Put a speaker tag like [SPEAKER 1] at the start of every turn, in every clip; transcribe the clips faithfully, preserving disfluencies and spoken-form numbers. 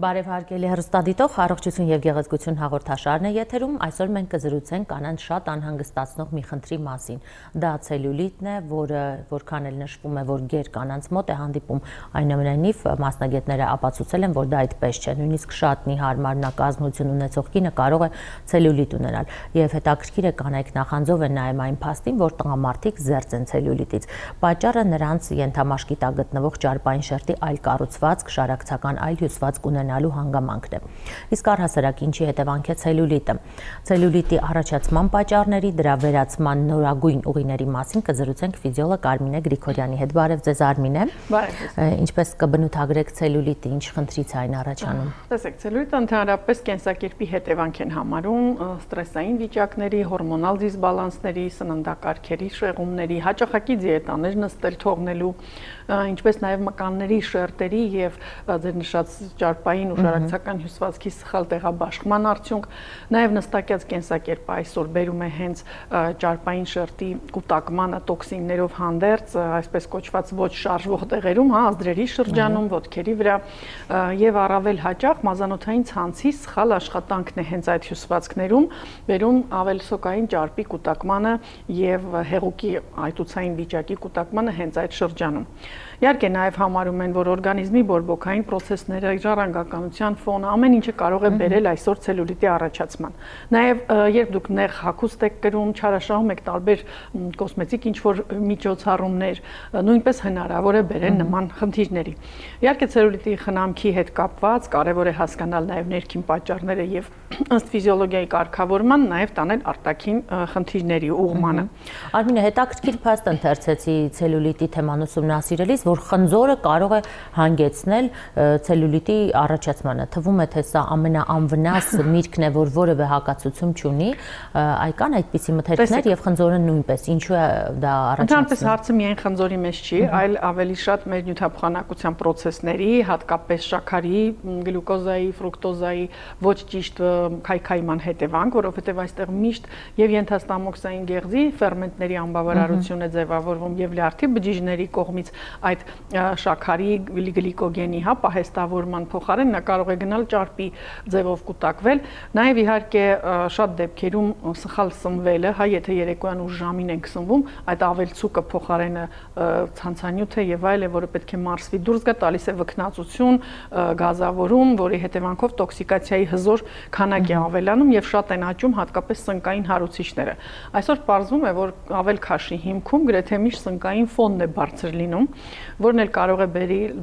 [SPEAKER 1] Բարև հարգելի հեռուստադիտող, առողջություն եւ գեղեցկություն հաղորդաշարն է եթերում։ Այսօր մենք կզրուցենք կանանց շատ անհանգստացնող մի խնդրի մասին։ Դա ցելյուլիտն է, որը որքան էլ նշվում է, որ գեր կանանց մոտ է հանդիպում, այնուամենայնիվ մասնագետները ապացուցել են, որ դա այդպես չէ։ Նույնիսկ շատ մի հարմար նկազնություն ունեցող կինը կարող է ցելյուլիտ ունենալ։ Եվ հետաքրքիր է կանայք նախանձով են նայում այն փաստին, որ տղամարդիկ զերծ են ցելյուլիտից։ Պատճառը նրանց ենթամաշկի տակ գտնվող ճարպային շերտի այլ կառուցվածք, շարակցական այլ հյուսվածք ունենալու հանգամանքն է։ Իսկ առհասարակ ինչի հետևանք է ցելյուլիտը։ Ցելյուլիտի առաջացման պատճառների, դրա վերացման նորագույն ուղիների մասին կզրուցենք ֆիզիոլոգ Արմինե Գրիգորյանի հետ։ Բարև ձեզ, Արմինե։
[SPEAKER 2] Բարև։
[SPEAKER 1] Ինչպես կբնութագրեք ցելյուլիտը, ինչ խնդրից է այն առաջանում։
[SPEAKER 2] Տեսեք, ցելյուլիտը ընդհանրապես կենսակերպի հետևանք են համարում ստրեսային վիճակների, հորմոնալ դիսբալանսների, սննդակարգերի շեղումների, հաճախակի դիետաներ նստել թողնելու, ինչպես նաև մկանների շերտերի եւ ձեր նշած ճարպային ու շարակցական հյուսվածքի սխալ տեղաբաշխման արդյունք, նաև նստակյաց կենսակերպը այսօր բերում է հենց ճարպային շերտի կուտակմանը տոքսիններով հանդերձ, այսպես կոչված ոչ շարժվող տեղերում, հա, ազդրերի շրջանում, ոտքերի վրա եւ առավել հաճախ մազանոթային ցանցի սխալ աշխատանքն է հենց այդ հյուսվածքներում բերում ավելսոկային ճարպի կուտակմանը եւ հեղուկի այտուցային վիճակի կուտակմանը հենց այդ շրջանում։ Իհարկե նաև համարում են, որ օրգանիզմի բորբոքային պրոցեսները, ժառանգականության ֆոնը, ամեն ինչը կարող է բերել այսօր ցելյուլիտի առաջացման։ Նաև երբ դուք նեղ հագուստ եք կրում, չարաշահում եք տարբեր կոսմետիկ ինչ-որ միջոցառումներ, նույնպես հնարավոր է բերել նման խնդիրների։ Իհարկե ցելյուլիտի խնամքի հետ կապված կարևոր է հասկանալ նաև ներքին պատճառները եւ ըստ ֆիզիոլոգիայի կարգավորման նաև տանել արտաքին խնդիրների ուղղմանը։
[SPEAKER 1] Արմինե, հետաքրքիր փաստ ընթերցեցի ցելյուլիտի թեման ուսումնասիրելիս, որ խնձորը կարող է հանգեցնել ցելյուլիտի առաջացմանը։ Թվում է, թե սա ամենաանվնաս միրգն է, որ որևէ հակացություն չունի, այ կան այդպիսի մթերքներ եւ խնձորը նույնպես։ Ինչու է դա առաջացնում։
[SPEAKER 2] Ընդհանրապես հարցը միայն խնձորի մեջ չի, այլ ավելի շատ մեր նյութափոխանակության պրոցեսների, հատկապես շաքարի, գլյուկոզայի, ֆրուկտոզայի ոչ ճիշտ քայքայման հետևանք, որովհետեւ այստեղ միշտ եւ ենթաստամոքսային գեղձի ֆերմենտների անբավարարություն է ձևավորվում եւ լյարդի բջիջների կողմից այդ շաքարի գլիկոգենի, հա, պահեստավորման փոխարեն նա կարող է գնալ ճարպի ձևով կուտակվել։ Նաև իհարկե շատ դեպքերում սխալ սնվելը, հա, եթե երեկոյան ուշ ժամին ենք սնվում, այդ ավելցուկը փոխարենը ցանցանյութ է եւ այլ է, որը պետք է մարսվի դուրս գա, տալիս է վքնածություն, գազավորում, որի հետևանքով տոքսիկացիայի հզոր քանակ է ավելանում եւ շատ են աճում հատկապես սնկային հարուցիչները։ Այսօր պարզվում է, որ ավել քաշի հիմքում գրեթե միշտ սնկային ֆոնն է բարձր լինում, որն էլ կարող է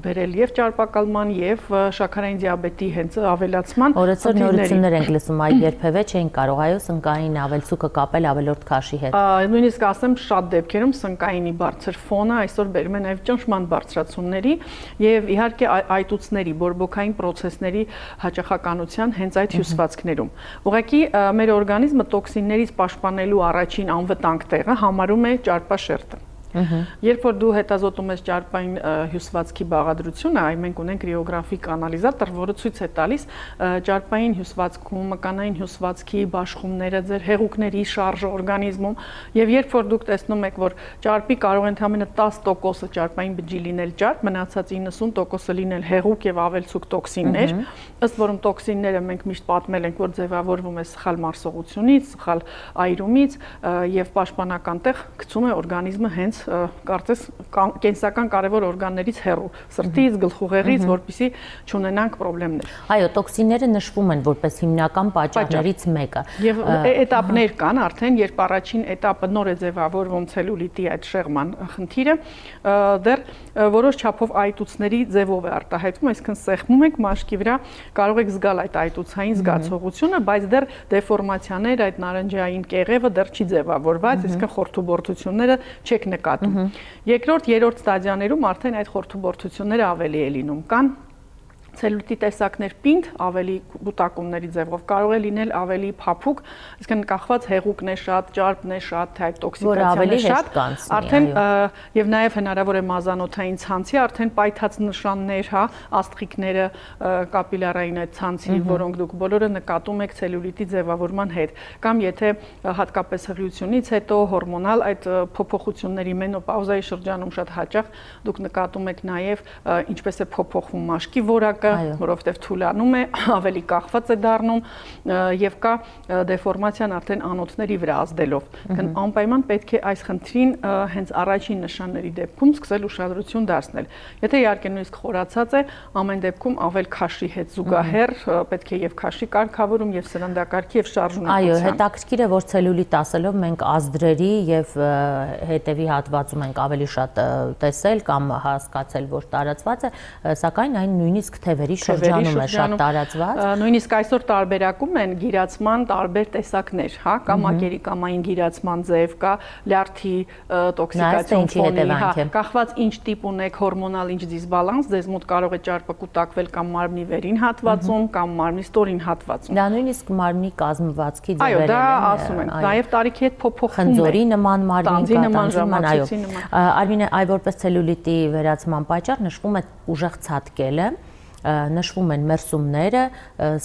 [SPEAKER 2] բերել եւ ճարպակալման եւ շաքարային դիաբետի հենց ավելացման։
[SPEAKER 1] Օրեցօր նորություններ ենք լսում, այ երբևէ չէին կարող այո սնկային ավելցուկը կապել ավելորդ քաշի հետ։
[SPEAKER 2] Նույնիսկ ասեմ, շատ դեպքերում սնկայինի բարձր ֆոնը այսօր բերում է նաեւ ճնշման բարձրացումների եւ իհարկե այտուցների, բորբոքային պրոցեսների հաճախականության հենց այդ հյուսվածքներում։ Ուղղակի մեր օրգանիզմը տոքսիններից պաշտպանելու առաջին անվտանգ տեղը համարում է ճարպաշերտը։ Երբ որ դու հետազոտում ես ճարպային հյուսվածքի բաղադրությունը, այ մենք ունենք կրիոգրաֆիկ անալիզատոր, որը ցույց է տալիս ճարպային հյուսվածքում, մկանային հյուսվածքի բաշխումները, ձեր հեղուկների շարժը օրգանիզմում, եւ երբ որ դուք տեսնում եք, որ ճարպի կարող է ընդամենը տասը տոկոսը ճարպային բջջի լինել ճարպ, մնացած իննսուն տոկոսը լինել հեղուկ եւ ավելցուկ տոքսիններ, ըստ որում տոքսինները մենք միշտ պատմել ենք, որ ձևավորվում է սխալ մարսողությունից, սխալ այրումից եւ պաշտպանական տեղ գցում է օրգանիզմը հենց կարծես կենսական կարևոր օրգաններից հեռու, սրտից, գլխուղեղից, որպեսզի չունենանք խնդիրներ։
[SPEAKER 1] Այո, տոքսինները նշվում են որպես հիմնական պատճառներից մեկը։
[SPEAKER 2] Եվ էտապներ կան արդեն, երբ առաջին էտապը նոր է ձևավորվում ցելյուլիտի այդ շեղման խնդիրը, դեռ որոշ չափով այտուցների ձևով է արտահայտվում, այսինքն սեղմում եք մաշկի վրա, կարող եք զգալ այդ այտուցային զգացողությունը, բայց դեռ դեֆորմացիաներ, այդ նարնջային կեղևը դեռ չի ձևավորված, այսինքն խորթուբորդությունները չեք նկատում։ Երկրորդ, երրորդ ստադիաներում արդեն այդ խորթուբորդությունները ավելի է լինում, կան ցելյուլիտի տեսակներ պինդ, ավելի բուտակումների ձևով, կարող է լինել ավելի փափուկ, այսինքն կախված հեղուկն է շատ, ճարպն է շատ, թե այդ տոքսիկացիան է շատ, արդեն եւ նաեւ հնարավոր է մազանոթային ցանցի արդեն պայթած նշաններ, հա, աստղիկները, կապիլարային այդ ցանցի, որոնք դուք բոլորը նկատում եք ցելյուլիտի ձևավորման հետ, կամ եթե հատկապես հղիությունից հետո հորմոնալ այդ փոփոխությունների մենոպաուզայի շրջանում շատ հաճախ դուք նկատում եք նաեւ ինչպես է փոփոխվում մաշկի որակ վիճակը, որովհետև թուլանում է, ավելի կախված է դառնում եւ կա դեֆորմացիան արդեն անոթների վրա ազդելով։ Անպայման պետք է այս խնդրին հենց առաջին նշանների դեպքում սկսել ուշադրություն դարձնել։ Եթե իհարկե նույնիսկ խորացած է, ամեն դեպքում ավել քաշի հետ զուգահեռ պետք է եւ քաշի կարգավորում եւ սննդակարգի եւ շարժունակության։
[SPEAKER 1] Այո, հետաքրքիր է, որ ցելյուլիտ ասելով մենք ազդրերի եւ հետեւի հատվածում ենք ավելի շատ տեսել կամ հասկացել, որ տարածված է, սակայն այն նույնիսկ թևերի շրջանում է շատ տարածված։
[SPEAKER 2] Նույնիսկ այսօր տարբերակում են գիրացման տարբեր տեսակներ, հա, կամ ակերիկամային գիրացման ձև, կա լյարդի տոքսիկացիոն ֆոնի, հա, կախված ինչ տիպ ունեք հորմոնալ ինչ դիսբալանս, ձեզ մոտ կարող է ճարպը կուտակվել կամ մարմնի վերին հատվածում, կամ մարմնի ստորին հատվածում։
[SPEAKER 1] Դա նույնիսկ մարմնի կազմվածքի
[SPEAKER 2] ձևերն են։ Այո, դա ասում են, նաև տարիքի հետ փոփոխվում է։
[SPEAKER 1] Խնձորի նման մարմին,
[SPEAKER 2] տանձի նման, ժամացույցի նման։
[SPEAKER 1] Արմինե, այ որպես ցելյուլիտի վերացման պատճառ նշվում է ուժեղ ցատկելը, նշվում են մերսումները,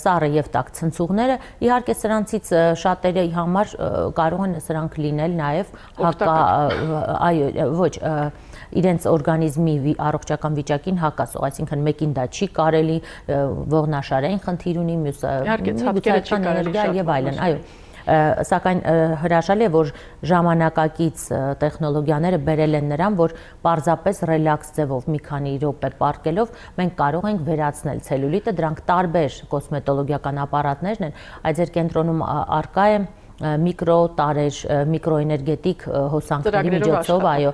[SPEAKER 1] սառը եւ տաք ցնցուղները, իհարկե սրանցից շատերի համար կարող են սրանք լինել նաեւ հակա, այո, ոչ, իրենց օրգանիզմի առողջական վիճակին հակասող, այսինքն մեկին դա չի կարելի, ողնաշարային խնդիր ունի, մյուսը ցածրական էներգիա եւ այլն, այո։ Սակայն հրաշալի է, որ ժամանակակից տեխնոլոգիաները բերել են նրան, որ պարզապես ռելաքս ձևով մի քանի րոպե պառկելով մենք կարող ենք վերացնել ցելյուլիտը, դրանք տարբեր կոսմետոլոգիական ապարատներն են, այդ ձեր կենտրոնում առկա է միկրո տարեր, միկրոէներգետիկ հոսանքների միջոցով, այո,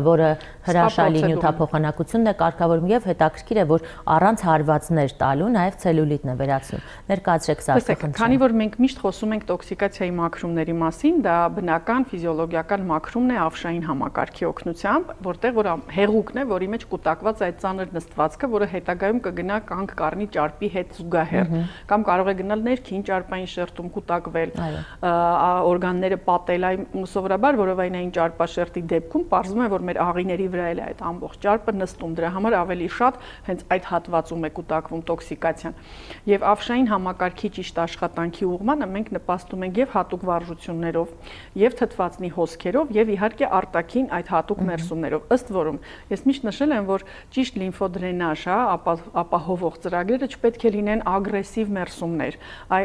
[SPEAKER 1] որը հրաշալի նյութափոխանակությունն է կարգավորում եւ հետաքրքիր է, որ առանց հարվածներ տալու նաեւ ցելյուլիտն է վերացնում։ Ներկայացրեք սա խնդրեմ։
[SPEAKER 2] Քանի որ մենք միշտ խոսում ենք տոքսիկացիայի մաքրումների մասին, դա բնական ֆիզիոլոգիական մաքրումն է ավշային համակարգի օգնությամբ, որտեղ որ հեղուկն է, որի մեջ կուտակված այդ ծանր նստվածքը, որը հետագայում կգնա կանգ կառնի ճարպի հետ զուգահեռ, կամ կարող է գնալ ներքին ճարպային շերտում կուտակվել, օրգանները պատել, այն սովորաբար որովայնային ճարպաշերտի դեպքում պարզվում է, որ մեր աղիների վրա էլ է այդ ամբողջ ճարպը նստում, դրա համար ավելի շատ հենց այդ հատվածում է կուտակվում տոքսիկացիան։ Եվ ավշային համակարգի ճիշտ աշխատանքի ուղղմանը մենք նպաստում ենք եւ հատուկ վարժություններով, եւ թթվածնի հոսքերով, եւ իհարկե արտաքին այդ հատուկ մերսումներով։ Ըստ որում ես միշտ նշել եմ, որ ճիշտ լիմֆոդրենաժ, հա, ապահովող ծրագրերը չպետք է լինեն ագրեսիվ մերսումներ։ Այ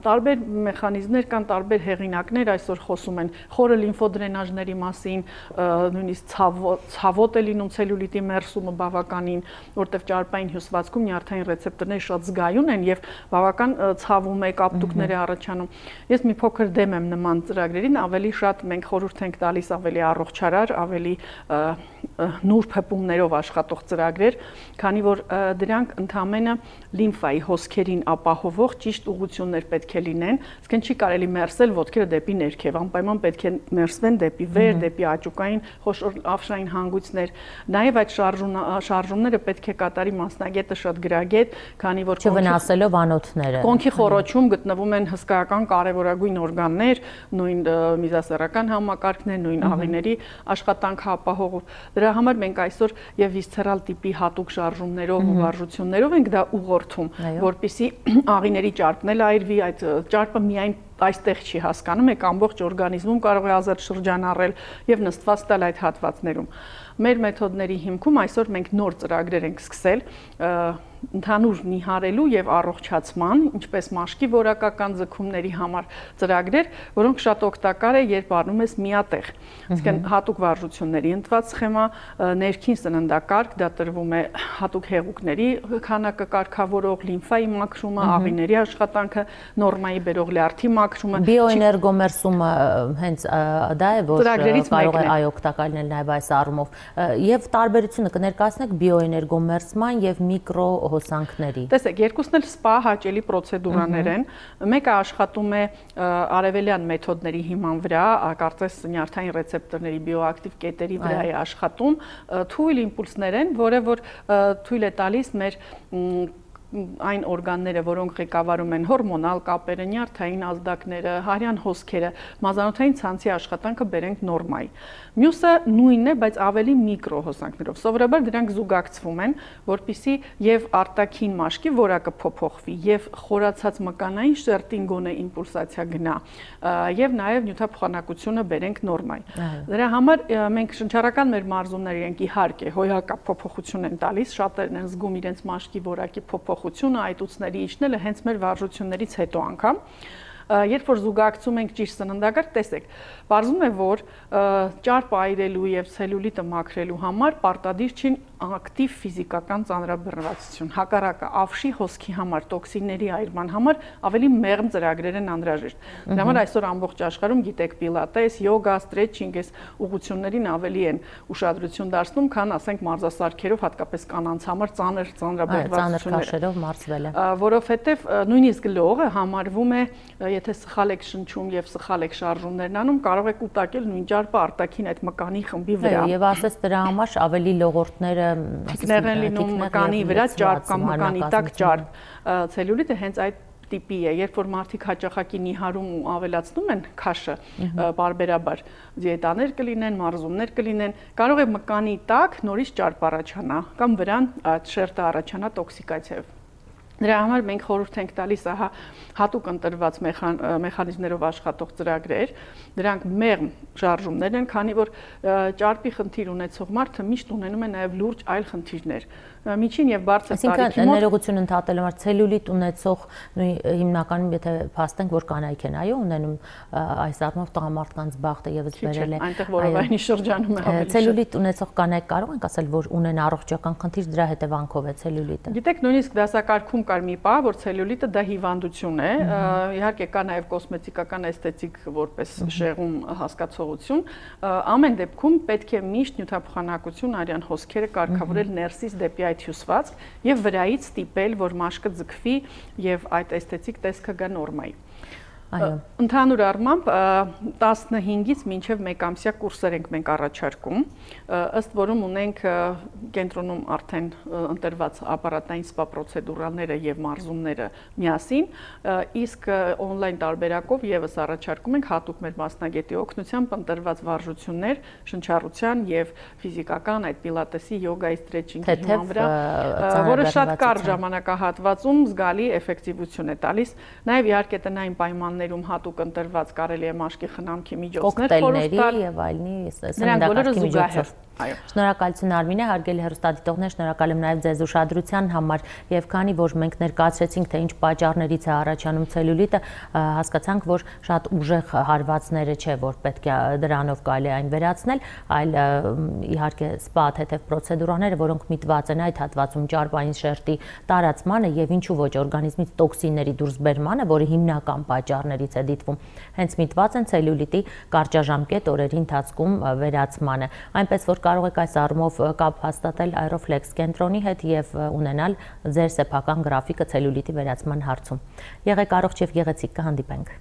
[SPEAKER 2] տարբեր մեխանիզմներ կան, տարբեր հեղինակներ այսօր խոսում են խորը լիմֆոդրենաժների մասին, նույնիսկ ցավոտ է լինում ցելյուլիտի մերսումը բավականին, որտեղ ճարպային հյուսվածքում նյարդային ռեցեպտորները շատ զգայուն են եւ բավական ցավում է, կապտուկներ է առաջանում։ Ես մի փոքր դեմ եմ նման ծրագրերին, ավելի շատ մենք խորհուրդ ենք տալիս ավելի առողջարար, ավելի նուրբ հպումներով աշխատող ծրագրեր, քանի որ դրանք ընդհանրապես լիմֆայի հոսքերին ապահովող ճիշտ ուղղություններ պետք է լինեն, այսինքն չի կարելի մերսել ոտքերը դեպի ներքև, անպայման պետք է մերսվեն դեպի վեր, դեպի աճուկային խոշոր ավշային հանգույցներ։ Նաև այդ շարժումները պետք է կատարի մասնագետը շատ գրագետ, քանի որ
[SPEAKER 1] չվնասելով անոթները։
[SPEAKER 2] Կոնքի խոռոչում գտնվում են հսկայական կարևորագույն օրգաններ, նույն միզասեռական համակարգներ, նույն աղիների աշխատանքը ապահովող։ Դրա համար մենք այսօր եւ վիսցերալ տիպի հատուկ շարժումներով ու վարժություններով ենք դա ուղղորդում, որպեսզի աղիների ճարպն էլ այրվի, այդ ճարպը միայն այստեղ չի հասկանում, եք ամբողջ օրգանիզմում կարող է ազատ շրջանառել եւ նստված տալ այդ հատվածներում։ Մեր մեթոդների հիմքում այսօր մենք նոր ծրագրեր ենք սկսել ընդհանուր նիհարելու եւ առողջացման, ինչպես մաշկի որակական ձգումների համար ծրագրեր, որոնք շատ օգտակար է, երբ առնում ես միատեղ։ Այսինքն հատուկ վարժությունների ընդված սխեմա, ներքին սննդակարգ, դա տրվում է հատուկ հեղուկների քանակը կարգավորող, լիմֆայի մաքրումը, աղիների աշխատանքը, նորմայի բերող լյարդի մաքրումը։
[SPEAKER 1] Բիոէներգոմերսումը հենց դա է, որ կարող է այ օգտակար լինել նաեւ այս առումով։ Եվ տարբերությունը կներկայացնեք բիոէներգոմերսման եւ միկրո հոսանքների։
[SPEAKER 2] Տեսեք, երկուսն էլ սպա հաճելի պրոցեդուրաներ են։ Մեկը աշխատում է արևելյան մեթոդների հիման վրա, կարծես նյարդային ռեցեպտորների բիոակտիվ կետերի վրա է աշխատում, թույլ իմպուլսներ են, որը որ թույլ է տալիս մեր այն օրգանները, որոնք ղեկավարում են հորմոնալ կապերը, նյարդային ազդակները, հարյան հոսքերը, մազանոթային ցանցի աշխատանքը բերենք նորմայի։ Մյուսը նույնն է, բայց ավելի միկրո հոսանքներով։ Սովորաբար դրանք զուգակցվում են, որpիսի եւ արտաքին մաշկի որակը փոփոխվի, եւ խորացած մկանային շերտին գոնե իմպուլսացիա գնա, եւ նաեւ նյութափոխանակությունը բերենք նորմայի։ Դրա համար մենք շնչառական մեր մարզումները ենք իհարկե հոյակապ փոփոխություն են տալիս, շատերն են զգում իրենց մաշկի որակի փոփոխ փոփոխությունը, այտուցների իջնելը հենց մեր վարժություններից հետո անգամ երբ որ զուգակցում ենք ճիշտ սննդակարգ, տեսեք, պարզվում է, որ ճարպ այրելու եւ ցելյուլիտը մաքրելու համար պարտադիր չի ակտիվ ֆիզիկական ծանրաբեռնվածություն։ Հակառակը, ավշի հոսքի համար, տոքսինների այրման համար ավելի մեղմ ծրագրեր են անհրաժեշտ։ Դրա համար այսօր ամբողջ աշխարհում գիտեք պիլատես, յոգա, սթրեչինգ, այս ուղղություններին ավելի են ուշադրություն դարձնում, քան ասենք մարզասարքերով, հատկապես կանանց համար ծանր ծանրաբեռնվածությունները
[SPEAKER 1] մարզվելը։
[SPEAKER 2] Որովհետեւ նույնիսկ լողը համարվում է, եթե սխալ եք շնչում եւ սխալ եք շարժումներն անում, կարող եք կուտակել նույն ճարպը արտաքին այդ մկանի խմբի վրա։
[SPEAKER 1] Եվ ասես դրա համար ավելի լողորդները
[SPEAKER 2] թիկներ են լինում մկանի վրա ճարպ կամ մկանի տակ ճարպ։ Ցելյուլիտը հենց այդ տիպի է, երբ որ մարդիկ հաճախակի նիհարում ու ավելացնում են քաշը բարբերաբար, դիետաներ կլինեն, մարզումներ կլինեն, կարող է մկանի տակ նորից ճարպ առաջանա կամ վրան այդ շերտը առաջանա տոքսիկացիայով։ Դրա համար մենք խորհուրդ ենք տալիս ահա հատուկ ընտրված մեխանիզմներով աշխատող ծրագրեր, դրանք մեղմ շարժումներ են, քանի որ ճարպի խնդիր ունեցող մարդը միշտ ունենում է նաև լուրջ այլ խնդիրներ։ Միջին եւ բարձր տարիքի
[SPEAKER 1] մոտ ներողություն ընդհատելու համար ցելյուլիտ ունեցող հիմնականում եթե փաստենք որ կանայք են այո ունենում այս առումով տղամարդկանց բախտը եւս վերել է
[SPEAKER 2] այնտեղ որովայնի շրջանում է ավելի
[SPEAKER 1] ցելյուլիտ ունեցող կանայք կարող ենք ասել որ ունեն առողջական խնդիր դրա հետևանքով է ցելյուլիտը։
[SPEAKER 2] Գիտեք նույնիսկ դասակարգում կար մի պահ որ ցելյուլիտը դա հիվանդություն է, իհարկե կա նաև կոսմետիկական էսթետիկ որպես շեղում հասկացողություն, ամեն դեպքում պետք է միշտ նյութափոխանակություն արյան հոսքերը կարգավորել ներսից դեպի այդ հյուսվածք եւ վրայից ստիպել, որ մաշկը ձգվի եւ այդ էսթետիկ տեսքը գա նորմայի։ Ընդհանուր առմամբ տասնհինգից մինչև մեկ ամսյա կուրսեր ենք մենք առաջարկում, ըստ որում ունենք կենտրոնում արդեն ընտրված ապարատային սպա պրոցեդուրաները եւ մարզումները միասին, իսկ օնլայն տարբերակով եւս առաջարկում ենք հատուկ մեր մասնագետի օգնությամբ ընտրված վարժություններ շնչառության եւ ֆիզիկական այդ պիլատեսի, յոգայի, սթրեչինգի հիման վրա, որը շատ կարճ ժամանակահատվածում զգալի էֆեկտիվություն է տալիս, նաեւ իհարկե տնային պայմաններ ներում հատուկ ընտրված կարելի է մաշկի խնամքի միջոցներ խորհուրդ տալ
[SPEAKER 1] եւ այլնի սննդակարգի միջոցով։ Շնորհակալություն Արմինե, հարգելի հեռուստադիտողներ, շնորհակալ եմ նաև ձեզ ուշադրության համար եւ քանի որ մենք ներկայացրեցինք թե ինչ պատճառներից է առաջանում ցելյուլիտը, հասկացանք, որ շատ ուժեղ հարվածները չէ, որ պետք է դրանով կարելի այն վերացնել, այլ իհարկե սպա թեթև պրոցեդուրաները, որոնք միտված են այդ հատվածում ճարպային շերտի տարածմանը եւ ինչու ոչ օրգանիզմից տոքսինների դուրսբերմանը, որը հիմնական պատճառներից է դիտվում, հենց միտված են ցելյուլիտի կարճաժամկետ օրերի ընթացքում վերացմանը, այնպես որ կարող եք այս առումով կապ հաստատել Aeroflex կենտրոնի հետ եւ ունենալ ձեր սեփական գրաֆիկը ցելյուլիտի վերացման հարցում։ Եղեք առողջ եւ գեղեցիկ, կհանդիպենք։